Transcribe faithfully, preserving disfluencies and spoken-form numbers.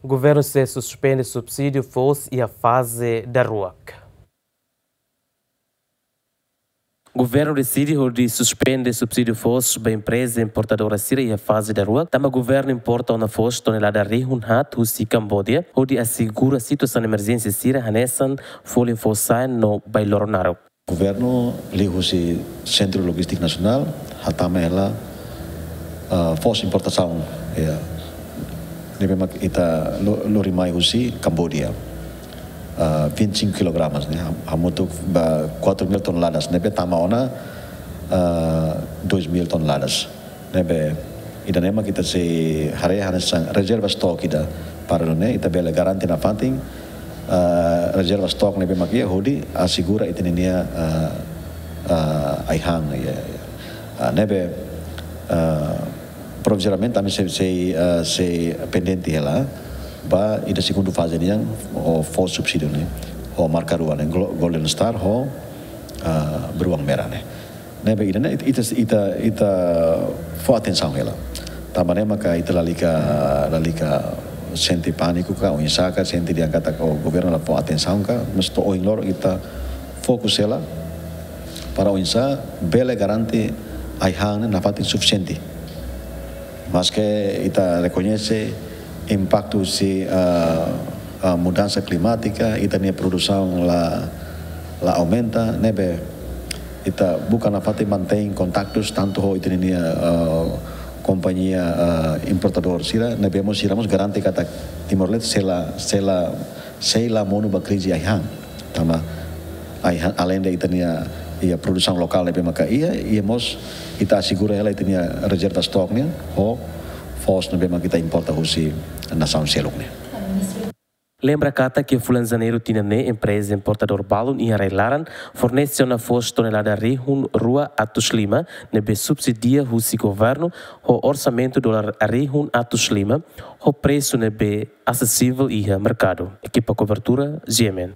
Governu sei suspende subsídiu foos iha faze daruak. Governu deside hodi suspende subsídiu foos ba empreza importadora sira iha faze daruak, tanba governu importa ona foos tonelada rihun haat husi Kambodia, hodi asegura situasaun emerjénsia sira hanesan folin foos sa'en no bailoron naruk. Governu liuhusi Sentru Lojístika Nasionál hatama hela, ah, foos importasaun, ya. Ne'ebé mak ita lo-, lori mai husi Kambodia. Ah, vinte e cinco kilogramas, ne'e. Ham-, hamutuk ba quatro mil toneladas, ne'ebé tama ona, ah, dois mil toneladas. Ne'ebé ida-ne'e mak ita sei haree hanesan rezerva stok ida. Para ne'e ita bele garante nafatin, ah, rezerva stok ne'ebé mak iha hodi asegura ita-nia, ah, ah, ai-han, ya, ya. Ah, ne'ebé, ah, provizoriamente ami sei, sei, ah, sei pendente hela ba ida segundu faze nian, ho foos subsídiu ne'e, ho marka rua ne'e, Glo-, Golden Star, ho, ah, Beruang Merah ne'e. Ne'ebé ida-ne'e ita, ita, ita fó atensaun hela. Tanba ne'e maka ita lalika, lalika sente pániku ka, oinsá ka, sente dehan katak, oh, governu la fó atensaun ka, mas to'o ohin loron ita fokus hela para oinsá bele garante ai-han ne'e nafatin sufisiente. Maske ita rekoñese impaktu husi, ah, ah, mudansa klimátika, ita-nia produsaun la, la aumenta, ne'ebé ita buka nafatin mantein kontaktus tantu ho ita-nia, ah, kompañia, ah, importadór sira, ne'ebé mós sira mós garante katak Timor-Leste sei la, sei la, sei la monu ba krize ai-han. Tanba ai-han, aleinde ita-nia, iha produsaun lokál ne'ebé maka iha, iha mós ita asegura hela ita-nia rezerva stok nian, ho foos ne'ebé maka ita importa husi nasaun seluk nian. Lembra katak iha fulan Janeiru tinan ne'e empreza importadór balun iha rai-laran fornese ona foos tonelada rihun rua atus lima ne'ebé subsidia husi governu ho orsamentu dolar rihun atus lima ho presu ne'ebé asesivel iha merkadu. Ekipa kobertura, G M N.